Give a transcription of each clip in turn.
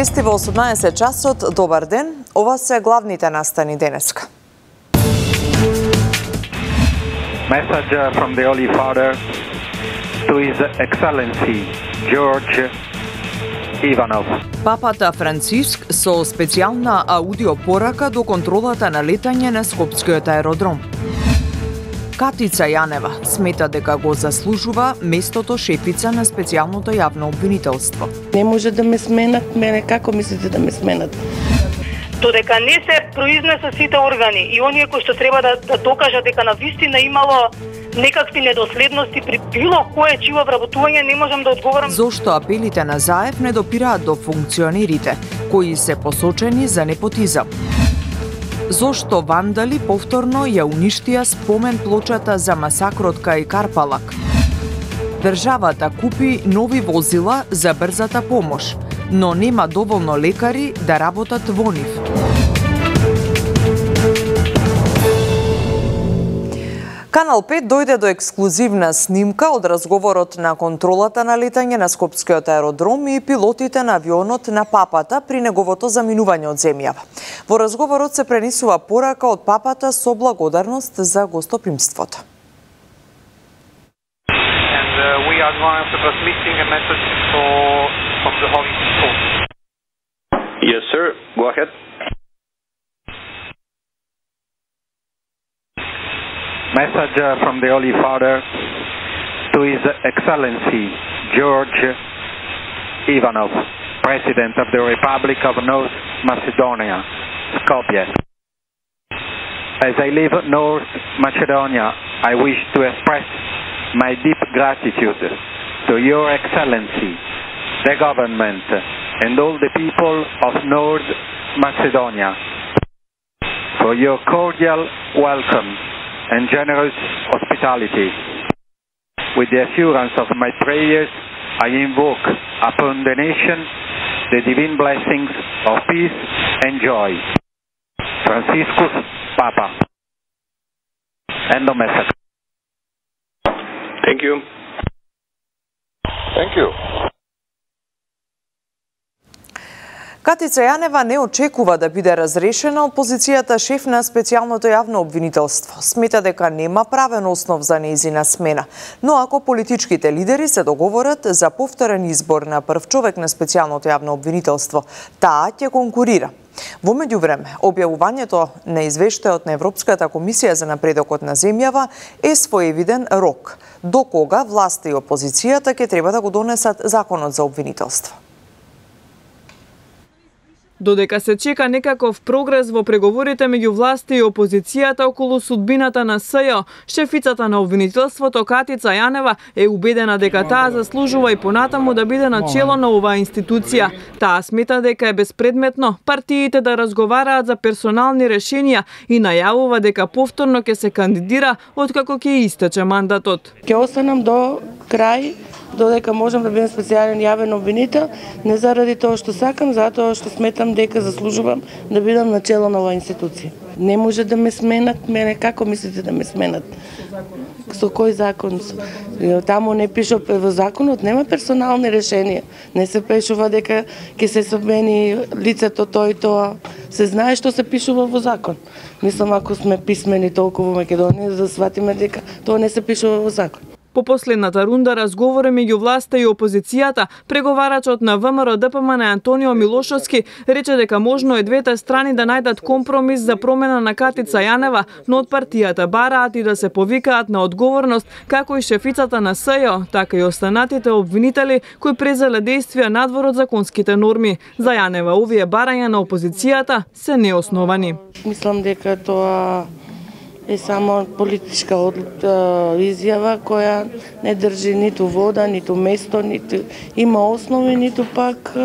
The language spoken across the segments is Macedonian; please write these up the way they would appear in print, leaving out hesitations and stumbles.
Вести во 18 часот, добар ден, ова се главните настани денеска. Message from the Holy Father to His Excellency George Ivanov. Папата Франциск со специјална аудиопорака до контролата на летање на Скопскиот аеродром. Катица Јанева смета дека го заслужува местото шефица на специјалното јавно обвинителство. Не може да ме сменат, мене како мислите да ме сменат? Додека не се произнесат сите органи и оние кои што треба да докажат дека навистина имало некакви недоследности при било кое чиво вработување, не можам да одговорам. Зошто апелите на Заев не допираат до функционерите, кои се посочени за непотизам? Зошто вандали повторно ја уништија спомен плочата за масакрот кај Карпалак? Државата купи нови возила за брзата помош, но нема доволно лекари да работат во нив. Канал 5 дојде до ексклузивна снимка од разговорот на контролата на летање на Скопскиот аеродром и пилотите на авионот на Папата при неговото заминување од земјава. Во разговорот се пренесува порака од Папата со благодарност за гостопримството. We are transmitting a message from the Holy Father. Yes, sir. Go ahead. Message from the Holy Father to His Excellency George Ivanov, President of the Republic of North Macedonia, Skopje. As I leave North Macedonia, I wish to express my deep gratitude to Your Excellency, the government, and all the people of North Macedonia for your cordial welcome and generous hospitality. With the assurance of my prayers, I invoke upon the nation the divine blessings of peace and joy. Franciscus Papa. End of message. Thank you. Thank you. Катица Јанева не очекува да биде разрешена од позицијата шеф на специјалното јавно обвинителство. Смета дека нема правен основ за нејзина смена, но ако политичките лидери се договорат за повторен избор на прв човек на специјалното јавно обвинителство, таа ќе конкурира. Во меѓувреме, објавувањето на извештајот на Европската комисија за напредокот на земјава е своевиден рок, до кога власта и опозицијата ќе треба да го донесат законот за обвинителство. Додека се чека некаков прогрес во преговорите меѓу власта и опозицијата околу судбината на СЈО, шефицата на обвинителството Катица Јанева е убедена дека таа заслужува и понатаму да биде на чело на оваа институција. Таа смета дека е безпредметно партиите да разговараат за персонални решенија и најавува дека повторно ќе се кандидира откако ќе истече мандатот. Ќе останам до крај, додека можам да бидам специјален јавен обвинител, не заради тоа што сакам, затоа што сметам дека заслужувам да бидам на чело на оваа институција. Не може да ме сменат, мене како мислите да ме сменат? Со кој закон? Таму не пишува во законот, нема персонални решенија. Не се пишува дека ќе се смени лицето тој и тоа. Се знае што се пишува во закон. Мислам, ако сме писмени толку во Македонија, да сватиме дека тоа не се пишува во закон. По последната рунда разговори меѓу власта и опозицијата, преговарачот на ВМРО ДПМН Антонио Милошовски рече дека можно е двете страни да најдат компромис за промена на Катица Јанева, но од партијата бараат и да се повикаат на одговорност како и шефицата на СЈО, така и останатите обвинители кои презеле действија надвор од законските норми. За Јанева овие барања на опозицијата се неосновани. Мислам дека тоа е само политичка изјава која не држи ниту вода, ниту место, ниту има основи, ниту пак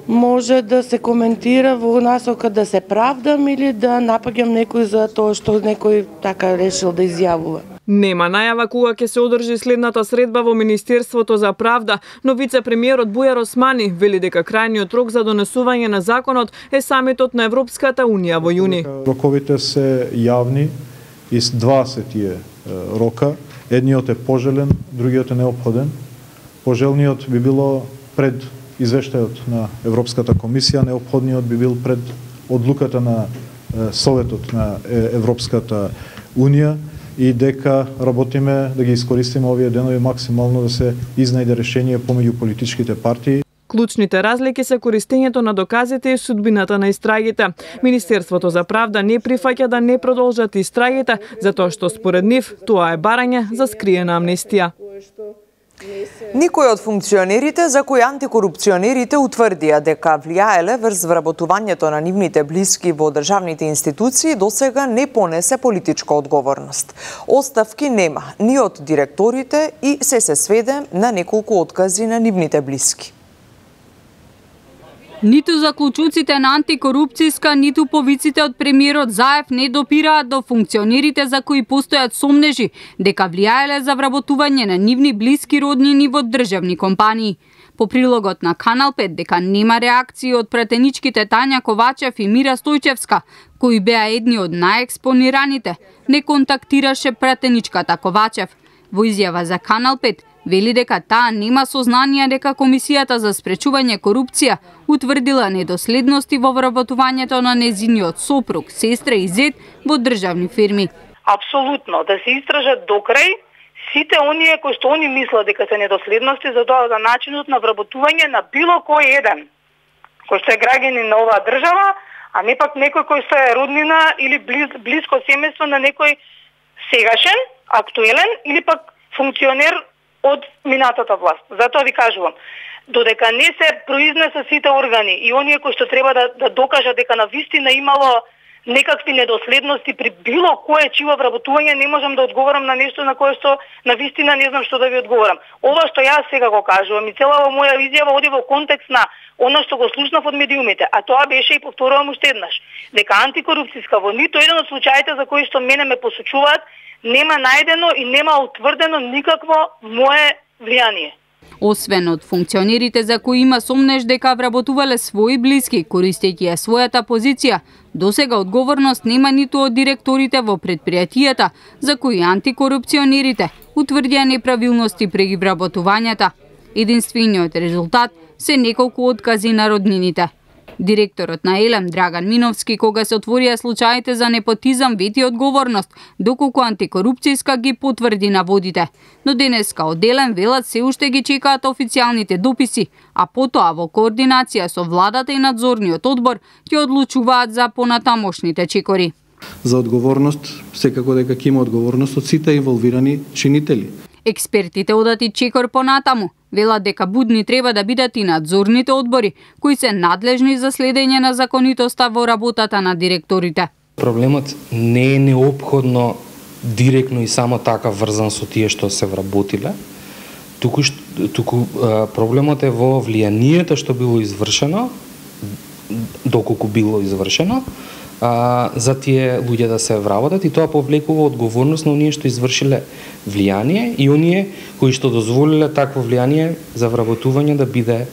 може да се коментира во насока да се правдам или да напаѓам некој за тоа што некој така решил да изјавува. Нема најава кога ќе се одржи следната средба во Министерството за правда, но вице-премиерот Бујар Османи вели дека крајниот рок за донесување на законот е самитот на Европската Унија во јуни. Роковите се јавни и два се тие рока. Едниот е пожелен, другиот е неопходен. Пожелниот би било пред извештајот на Европската комисија, неопходниот би бил пред одлуката на Советот на Европската Унија и дека работиме да ги искористиме овие денови максимално да се изнајде решение помеѓу политичките партии. Клучните разлики се користењето на доказите и судбината на истрагите. Министерството за правда не прифаќа да не продолжат истрагите, затоа што според нив тоа е барање за скриена амнестија. Никој од функционерите за кои антикорупционерите утврдија дека влијаеле врз вработувањето на нивните блиски во државните институции досега не понесе политичка одговорност. Оставки нема ни од директорите и се сведе на неколку откази на нивните блиски. Ниту заклучуците на антикорупцијска, ниту повиците од премиерот Заев не допираат до функционерите за кои постојат сомнежи дека влијаеле за вработување на нивни блиски роднини во државни компании. По прилогот на Канал 5 дека нема реакции од пратеничките Тања Ковачев и Мира Стојчевска, кои беа едни од најекспонираните, не контактираше пратеничката Ковачев. Во изјава за Канал 5 вели дека таа нема сознание дека Комисијата за спречување корупција утврдила недоследности во вработувањето на незиниот сопруг, сестра и зет во државни фирми. Апсолутно, да се истражат докрај сите оние кои што они мислат дека се недоследности за тоа за начинот на вработување на било кој еден кој што е граѓанин на оваа држава, а не пак некој кој што е роднина или близко семејство на некој сегашен, актуелен или пак функционер од минатата власт. Затоа ви кажувам, додека не се произнесат сите органи и оние кои што треба да докажат дека навистина имало некакви недоследности при било кое чиво вработување, не можам да одговорам на нешто на кое што навистина не знам што да ви одговорам. Ова што јас сега го кажувам и целава моја изјава оди во контекст на она што го слушнав од медиумите, а тоа беше и повторувам уште еднаш, дека антикорупцијска во ниту еден од случаите за кои што мене ме посочуваат нема најдено и нема утврдено никакво мое влијание. Освен од функционерите за кои има сомнеж дека вработувале своји блиски, користејќи ја својата позиција, досега одговорност нема ниту од директорите во предпријатијата за кои антикорупционерите утврдија неправилности при вработувањата. Единствениот резултат се неколку откази на роднините. Директорот на Елем Драган Миновски, кога се отворија случаите за непотизам, вети одговорност, доколку антикорупцијска ги потврди наводите. Но денеска од Елем велат се уште ги чекаат официјалните дописи, а потоа во координација со владата и надзорниот одбор ќе одлучуваат за понатамошните чекори. За одговорност, секако дека ќе има одговорност од сите инволвирани чинители. Експертите одат и чекор понатаму. Велат дека будни треба да бидат и надзорните одбори, кои се надлежни за следење на законитоста во работата на директорите. Проблемот не е неопходно директно и само така врзан со тие што се вработиле, туку проблемот е во влијанието што било извршено, доколку било извршено, за тие луѓе да се вработат, и тоа повлекува одговорност на оние што извршиле влијание и оние кои што дозволиле такво влијание за вработување да биде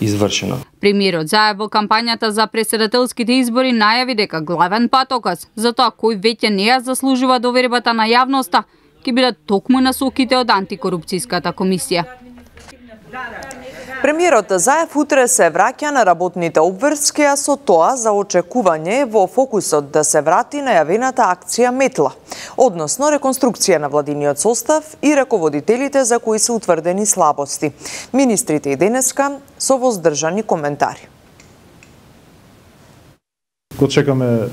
извршено. Премиерот Заев во кампањата за претседателските избори најави дека главен патоказ за тоа кој веќе не ја заслужува довербата на јавноста ќе бидат токму насоките од антикорупцијската комисија. Премиерот Заев утре се враќа на работните обврски, а со тоа за очекување во фокусот да се врати најавената акција Метла, односно реконструкција на владиниот состав и раководителите за кои се утврдени слабости. Министрите и денеска со воздржани коментари. Го чекаме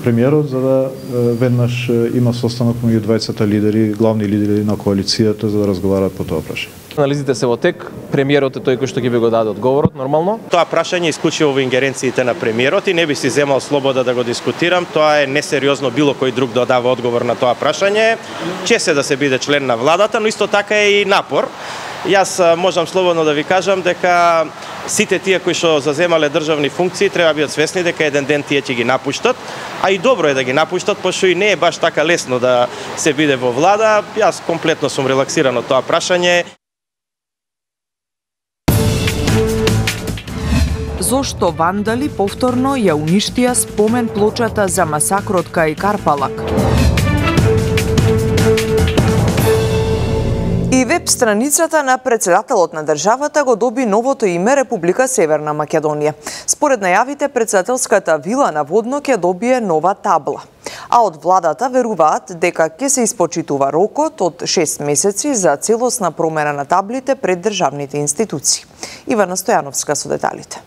премиерот за да веднаш има состанок меѓу двајцата лидери, главни лидери на коалицијата за да разговараат по тоа прашање. Анализите се во тек, премиерот е тој кој што ги ви го даде одговорот, нормално. Тоа прашање е исклучиво во ингеренциите на премиерот и не би си земал слобода да го дискутирам. Тоа е несериозно било кој друг да дава одговор на тоа прашање. Чест е да се биде член на владата, но исто така е и напор. Јас можам слободно да ви кажам дека сите тие кои што заземале државни функции треба бидат свесни дека еден ден тие ќе ги напуштат, а и добро е да ги напуштат, пошто и не е баш така лесно да се биде во влада. Јас комплетно сум релаксиран од тоа прашање. Зошто вандали повторно ја уништија спомен плочата за масакрот кај Карпалак? И веб страницата на председателот на државата го доби новото име Република Северна Македонија. Според најавите, председателската вила на Водно ќе добие нова табла. А од владата веруваат дека ќе се испочитува рокот од 6 месеци за целосна промена на таблите пред државните институции. Ивана Стојановска со деталите.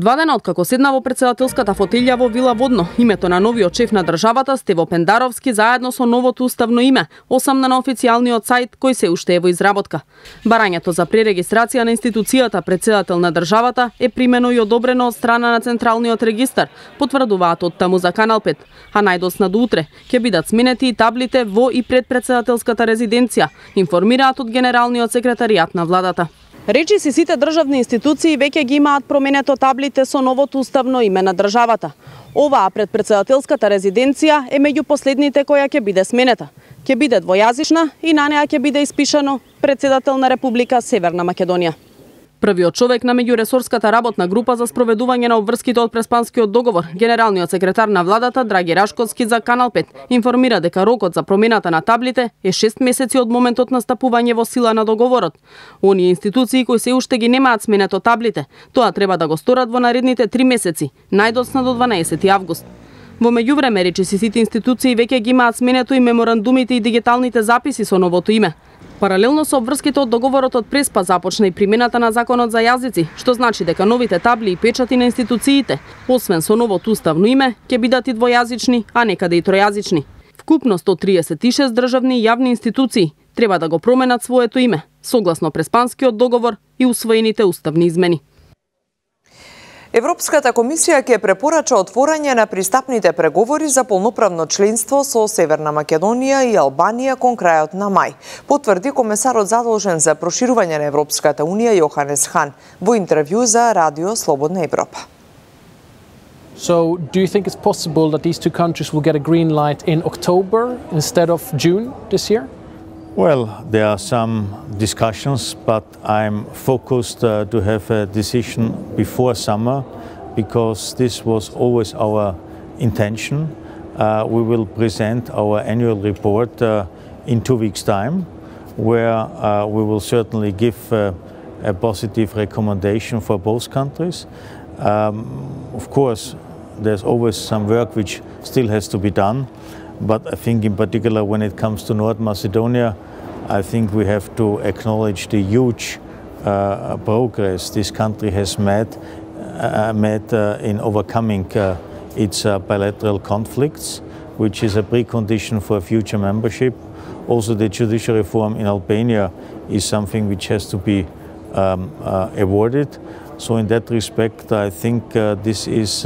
2 дена откако седна во председателската фотелја во Вила Водно, името на новиот шеф на државата Стево Пендаровски заедно со новото уставно име осамна на официјалниот сајт кој се уште е во изработка. Барањето за пререгистрација на институцијата председател на државата е примено и одобрено од страна на Централниот регистар, потврдуваат од таму за Канал 5, а најдосна до утре ќе бидат сменети и таблите во и пред председателската резиденција, информираат од генералниот секретаријат на владата. Речиси сите државни институции веќе ги имаат променето таблите со новото уставно име на државата. Оваа пред председателската резиденција е меѓу последните која ќе биде сменета. Ќе биде двојазична и на неа ќе биде испишано председател на Република Северна Македонија. Првиот човек на меѓуресорската работна група за спроведување на обврските од Преспанскиот договор, генералниот секретар на владата Драги Рашковски за Канал 5, информира дека рокот за промената на таблите е 6 месеци од моментот на стапување во сила на договорот. Оние институции кои се уште ги немаат сменето таблите, тоа треба да го сторат во наредните 3 месеци, најдосна до 12 август. Во меѓувреме речиси сите институции веќе ги имаат сменето и меморандумите и дигиталните записи со новото име. Паралелно со обврските од договорот од Преспа започна и примената на законот за јазици, што значи дека новите табли и печати на институциите, освен со новото уставно име, ќе бидат и двојазични, а некаде и тројазични. Вкупно 136 државни и јавни институции треба да го променат своето име, согласно Преспанскиот договор и усвоените уставни измени. Европската комисија ќе препорача отворање на пристапните преговори за полноправно членство со Северна Македонија и Албанија кон крајот на мај, потврди комесарот задолжен за проширување на Европската унија Јоханес Хан во интервју за Радио Слободна Европа. So, do you think it's possible that these two countries will get a green light in October instead of June this year? Well, there are some discussions, but I'm focused to have a decision before summer because this was always our intention. We will present our annual report in 2 weeks' time, where we will certainly give a positive recommendation for both countries. Of course, there's always some work which still has to be done. But I think in particular when it comes to North Macedonia, I think we have to acknowledge the huge progress this country has made in overcoming its bilateral conflicts, which is a precondition for future membership. Also the judicial reform in Albania is something which has to be awarded. So in that respect, I think this is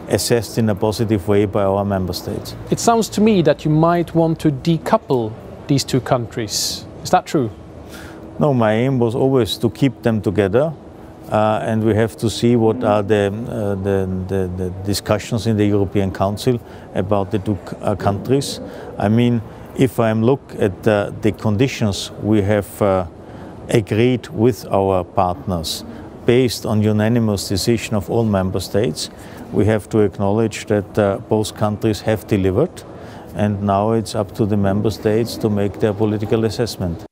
assessed in a positive way by our member states. It sounds to me that you might want to decouple these two countries. Is that true? No, my aim was always to keep them together, and we have to see what are the discussions in the European Council about the two countries. I mean, if I look at the conditions we have agreed with our partners, based on unanimous decision of all member states, we have to acknowledge that both countries have delivered, and now it's up to the member states to make their political assessment.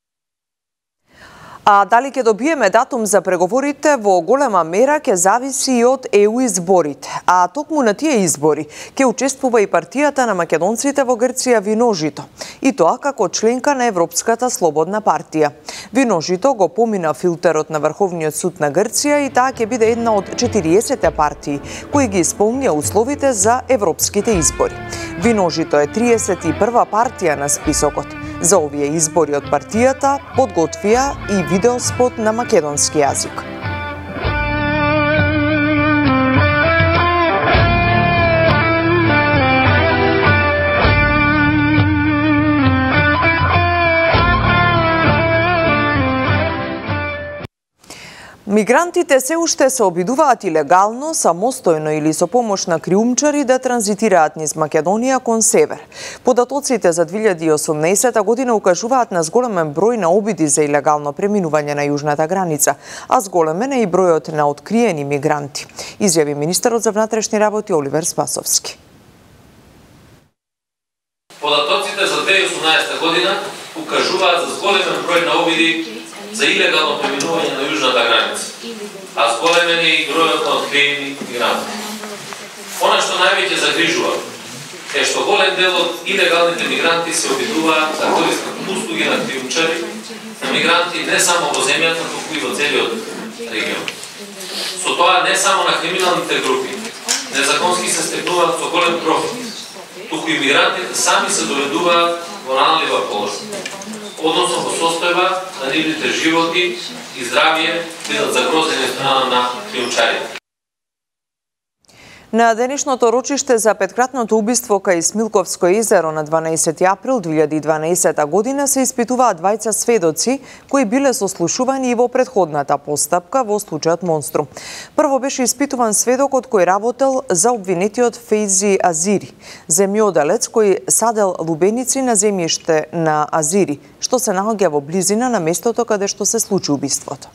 А дали ќе добиеме датум за преговорите во голема мера ќе зависи и од ЕУ изборите. А токму на тие избори ќе учествува и партијата на македонците во Грција Виножито. И тоа како членка на Европската слободна партија. Виножито го помина филтерот на Врховниот суд на Грција и таа ќе биде една од 40 партии кои ги исполнија условите за европските избори. Виножито е 31 партија на списокот. За овие избори од партијата подготвија и видеоспот на македонски јазик. Мигрантите се уште се обидуваат илегално, самостојно или со помош на криумчари да транзитираат низ Македонија кон север. Податоците за 2018 година укажуваат на зголемен број на обиди за илегално преминување на јужната граница, а зголемен е и бројот на откриени мигранти, изјави министерот за внатрешни работи Оливер Спасовски. Податоците за 2018 година укажуваат за зголемен број на обиди за илегално преминување на јужната граница, а зголемен е и бројот на откриени мигранти. Она што највеќе загрижува е што голем дел од илегалните мигранти се обидуваат да користат услуги на криумчари, на мигранти не само во земјата, туку и во целиот регион. Со тоа не само на криминалните групи незаконски се стекнуваат со голем профит, туку и мигрантите сами се доведуваат во наналива положение, односно во состојба на нивните животи и здравје бидат загрозени од страна на криумчарите. На денешното рочиште за петкратното убиство кај Смилковско езеро на 12 април 2012 година се испитуваат двајца сведоци кои биле сослушувани и во претходната постапка во случајот Монструм. Прво беше испитуван сведокот кој работел за обвинетиот Фейзи Азири, земјоделец кој садел лубеници на земјиште на Азири, што се наоѓа во близина на местото каде што се случи убиството.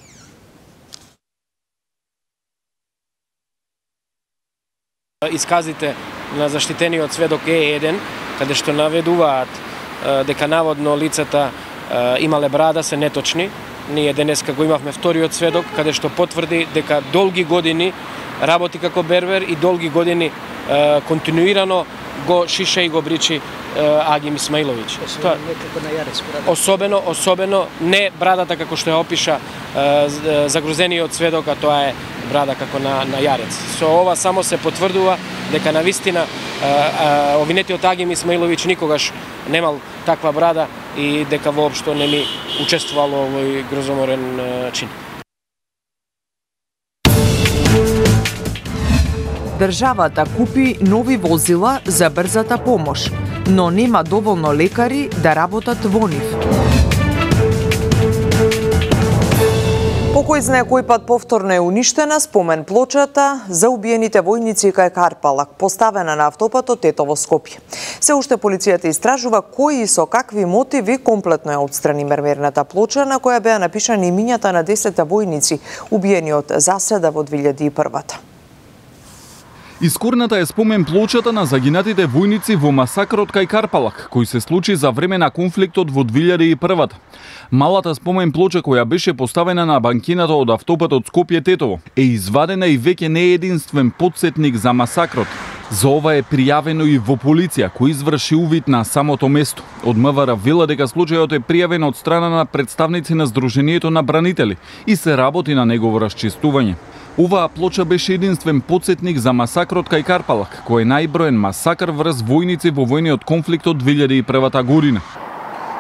Исказите на заштитениот сведок Е1, каде што наведуваат дека наводно лицата имале брада, се неточни. Ние денеска го имавме вториот сведок, каде што потврди дека долги години работи како бербер и долги години континуирано го шише и го бричи Агим Исмаиловиќ. Особено не брадата како што ја опиша загрозениот сведок, а тоа е брада како на јарец. Со ова само се потврдува дека навистина обвинетиот Агим Исмаиловиќ никогаш немал таква брада и дека воопшто не ми учествувал во овој грозоморен чин. Државата купи нови возила за брзата помош, но нема доволно лекари да работат во нив. По кој знае кој пат повторно е уништена спомен плочата за убиените војници кај Карпалак, поставена на автопатот Тетово Скопје. Се уште полицијата истражува кои и со какви мотиви комплетно ја отстрани мермерната плоча на која беа напишани имињата на 10 војници убиени од заседа во 2001-та. Искорната е спомен плочата на загинатите војници во масакрот кај Карпалак, кој се случи за време на конфликтот во 2001-та. Малата спомен плоча која беше поставена на банкината од автопатот Скопје-Тетово е извадена и веќе не е единствен потсетник за масакрот. За ова е пријавено и во полиција, кој изврши увид на самото место. Од МВР вела дека случајот е пријавен од страна на представници на Сдруженијето на бранители и се работи на негово расчистување. Оваа плоча беше единствен потсетник за масакрот кај Карпалак, кој е најброен масакр врз војници во војниот конфликт од 2001 година.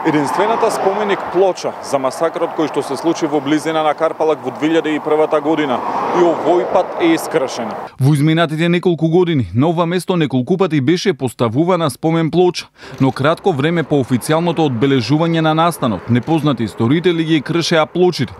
Единствената споменик плоча за масакрот кој што се случи во близина на Карпалак во 2001 година и овој пат е искршена. Во изминатите неколку години на ова место неколку пати беше поставувана спомен плоча, но кратко време по официјалното одбележување на настанот, непознати сторители ги кршеа плочите.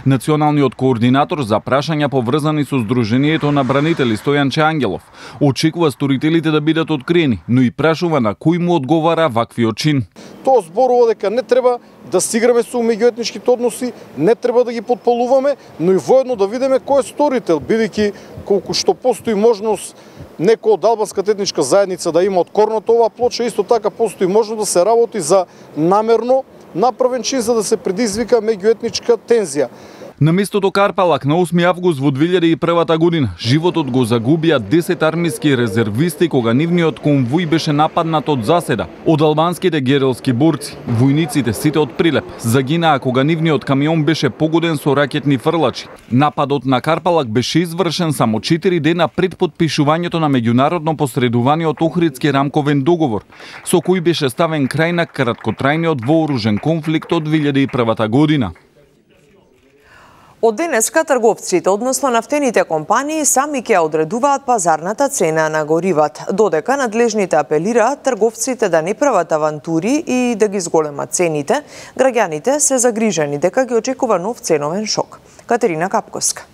Националниот координатор за прашања поврзани со Сдруженијето на бранители Стојанче Ангелов очекува сторителите да бидат откриени, но и прашува на кој му одговара ваквиот чин. Тоа зборува дека не треба да си играме со меѓуетничките односи, не треба да ги потполуваме, но и воедно да видиме кој е сторител, бидејќи колку што постои можност некој од албанската етничка заедница да има откорната оваа плоча, исто така постои можност да се работи за намерно направен чин за да се предизвика меѓуетничка тензија. На местото Карпалак на 8 август во 2001 година животот го загубија 10 армиски резервисти кога нивниот конвој беше нападнат од заседа од албанските герилски борци. Војниците сите од Прилеп загинаа кога нивниот камион беше погоден со ракетни фрлачи. Нападот на Карпалак беше извршен само 4 дена пред потпишувањето на меѓународно посредуваниот Охридски рамковен договор, со кој беше ставен крај на краткотрајниот вооружен конфликт од 2001 година. Од денеска трговците, односно нафтените компании, сами ќе одредуваат пазарната цена на горивата, додека надлежните апелираат трговците да не прават авантури и да ги зголемат цените, граѓаните се загрижени дека ги очекува нов ценовен шок. Катерина Капковска.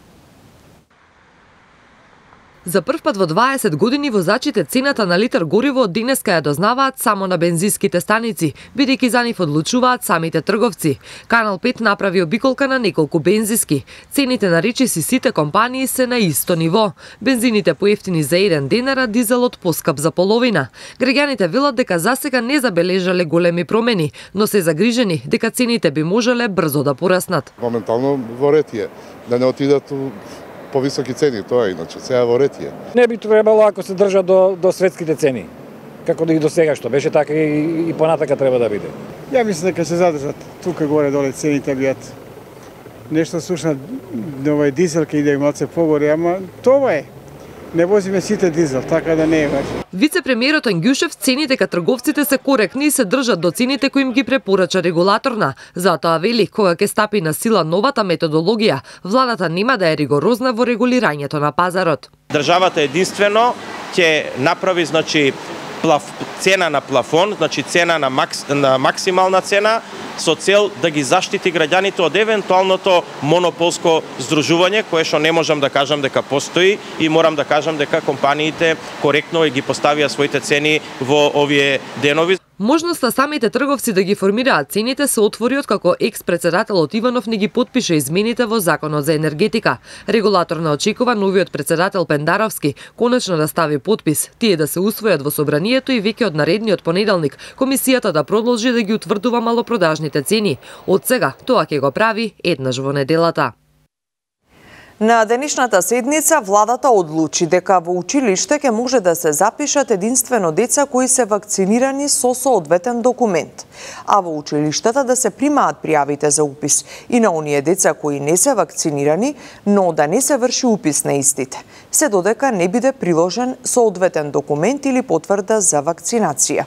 За прв пат во 20 години возачите цената на литар гориво денеска ја дознаваат само на бензинските станици, бидејќи за нив одлучуваат самите трговци. Канал 5 направи обиколка на неколку бензиски. Цените на речиси сите компании се на исто ниво. Бензините поевтини за 1 денар, дизелот поскап за половина. Граѓаните велат дека засега не забележале големи промени, но се загрижени дека цените би можеле брзо да пораснат. Моментално во ред е да не отидат повисоки цени, тоа е иначе, сега во ред е. Не би требало ако се држа до светските цени, како да ги до сега што беше, така и понатака треба да биде. Ја мислам дека се задржат тука горе доле цените биат. Нешто слушна овој дизел ке иде малце погоре, ама тоа е. Не возиме сите дизел, така да не е баш. Вице-премиерот Ангјушев цени дека трговците се коректни и се држат до цените кои им ги препорача регулаторна. Затоа вели, кога ќе стапи на сила новата методологија, владата нема да е ригорозна во регулирањето на пазарот. Државата единствено ќе направи, цена на плафон, цена на максимална цена, со цел да ги заштити граѓаните од евентуалното монополско здружување, кое што не можам да кажам дека постои, и морам да кажам дека компаниите коректно ги поставија своите цени во овие денови. Можноста самите трговци да ги формираат цените се отвори откако екс-председателот Иванов не ги потпише измените во Законот за енергетика. Регулаторна очекува новиот председател Пендаровски конечно да стави потпис, тие да се усвојат во собранието и веќе од наредниот понеделник комисијата да продолжи да ги утврдува малопродажните цени. Од сега тоа ќе го прави еднаш во неделата. На денешната седница владата одлучи дека во училиште ќе може да се запишат единствено деца кои се вакцинирани со соодветен документ, а во училиштата да се примаат пријавите за упис и на оние деца кои не се вакцинирани, но да не се врши упис на истите, се додека не биде приложен соодветен документ или потврда за вакцинација.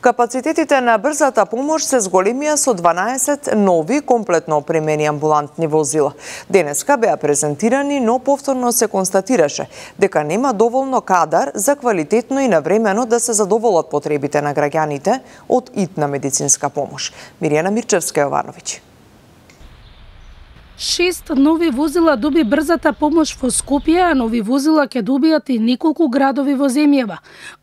Капацитетите на брзата помош се зголемија со 12 нови комплетно опремени амбулантни возила. Денеска беа презентирани, но повторно се констатираше дека нема доволно кадар за квалитетно и навремено да се задоволат потребите на граѓаните од итна медицинска помош. Миријана Мирчевска-Јовановиќ. 6 нови возила доби брзата помош во Скопје, а нови возила ќе добијат и неколку градови во земјава.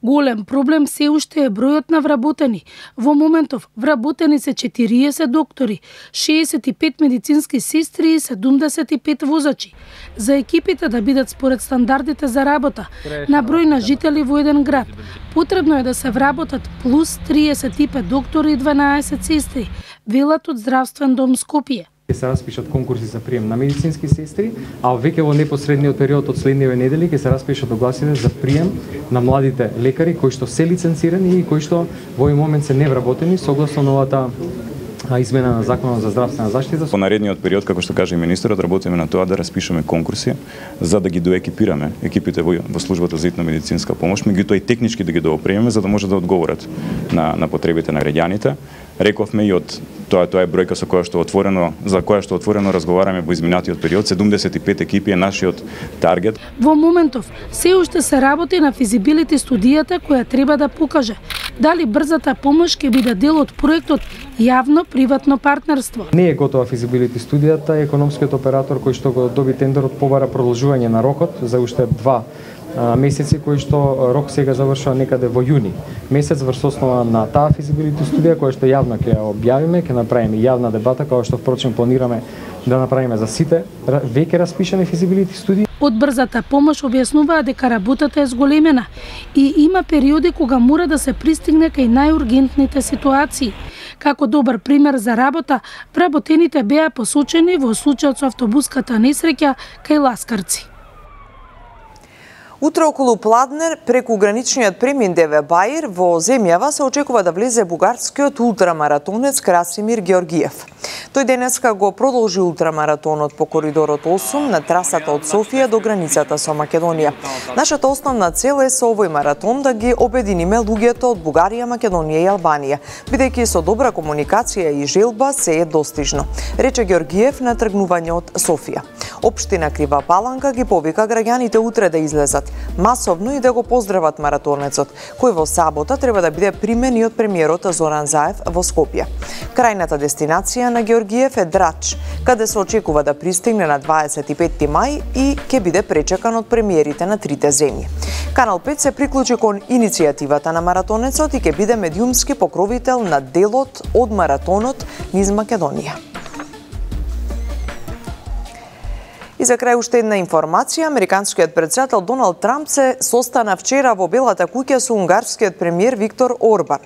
Голем проблем се уште е бројот на вработени. Во моментов вработени се 40 доктори, 65 медицински сестри и 75 возачи. За екипите да бидат според стандардите за работа на број на жители во еден град, потребно е да се вработат плюс 35 доктори и 12 сестри, велат од Здравствен дом Скопје. Ќе се распишат конкурси за прием на медицински сестри, а веќе во непосредниот период од следниве недели ќе се распишат огласите за прием на младите лекари кои што се лиценцирани и кои што во овој момент се невработени согласно новата измена на Законот за здравствена заштита. Во наредниот период, како што каже и министерот, работиме на тоа да распишеме конкурси за да ги доекипираме екипите во службата за итна медицинска помош, меѓутоа и технички да ги доопремиме за да може да одговорат на потребите на граѓаните. Рековме и од тоа е бројка за која што отворено разговараме во изминатиот период, 75 екипи е нашиот таргет. Во моментов се уште се работи на физибилити студијата која треба да покаже дали брзата помош ќе биде дел од проектот јавно-приватно партнерство. Не е готова физибилити студијата, економскиот оператор кој што го доби тендерот побара продолжување на рокот за уште 2 месеци, кои што рок сега завршува некаде во јуни месец. Врз основа на таа физибилити студија која што јавно ќе ја објавиме, ќе направиме јавна дебата, која што впрочем планираме да направиме за сите веќе распишани физибилити студии. Од брзата помош објаснуваа дека работата е зголемена и има периоди кога мора да се пристигне кај најургентните ситуации. Како добар пример за работа, вработените беа посочени во случајот со автобуската несреќа кај Ласкарци. Утре околу Пладнер, преку граничниот премин ДВ Баир, во земјава се очекува да влезе бугарскиот ултрамаратонец Красимир Георгиев. Тој денеска го продолжи ултрамаратонот по коридорот 8 на трасата од Софија до границата со Македонија. Нашата основна цел е со овој маратон да ги обединиме луѓето од Бугарија, Македонија и Албанија, бидејќи со добра комуникација и желба се е достижно, рече Георгиев на тргнување од Софија. Општина Крива Паланка ги повика граѓаните утре да излезат масовно и да го поздрават маратонецот, кој во сабота треба да биде примен и од премиерот Зоран Заев во Скопје. Крајната дестинација на Георгиев е Драч, каде се очекува да пристигне на 25 мај и ќе биде пречекан од премиерите на трите земји. Канал 5 се приклучи кон иницијативата на маратонецот и ќе биде медиумски покровител на делот од маратонот низ Македонија. И за крај уште една информација, американскиот претседател Доналд Трамп се состана вчера во Белата куќа со унгарскиот премиер Виктор Орбан.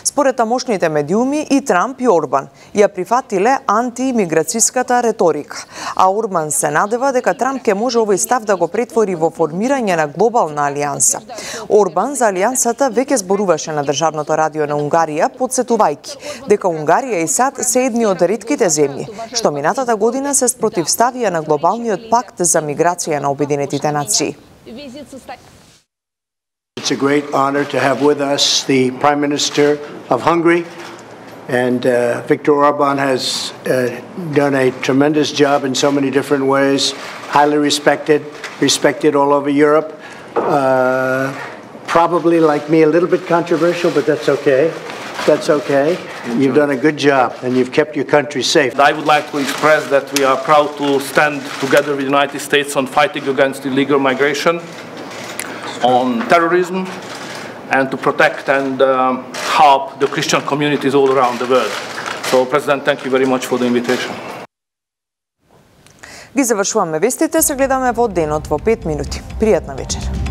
Според тамошните медиуми и Трамп и Орбан ја прифатиле антиимиграцијската реторика, а Орбан се надева дека Трамп ќе може овој став да го претвори во формирање на глобална алијанса. Орбан за алијансата веќе зборуваше на државното радио на Унгарија, подсетувајќи дека Унгарија и САД се едни од ретките земји што минатата година се спротивставија на глобалниот пакт за миграција на Обединетите нации. It's a great honor to have with us the Prime Minister of Hungary, and Viktor Orban has done a tremendous job in so many different ways, highly respected all over Europe. Probably, like me, a little bit controversial, but that's okay. That's okay. You've done a good job, and you've kept your country safe. I would like to express that we are proud to stand together with the United States on fighting against illegal migration, on terrorism, and to protect and help the Christian communities all around the world. So, President, thank you very much for the invitation. Ги завршуваме вестите, се гледаме во денот во 5 минути. Пријатна вечер.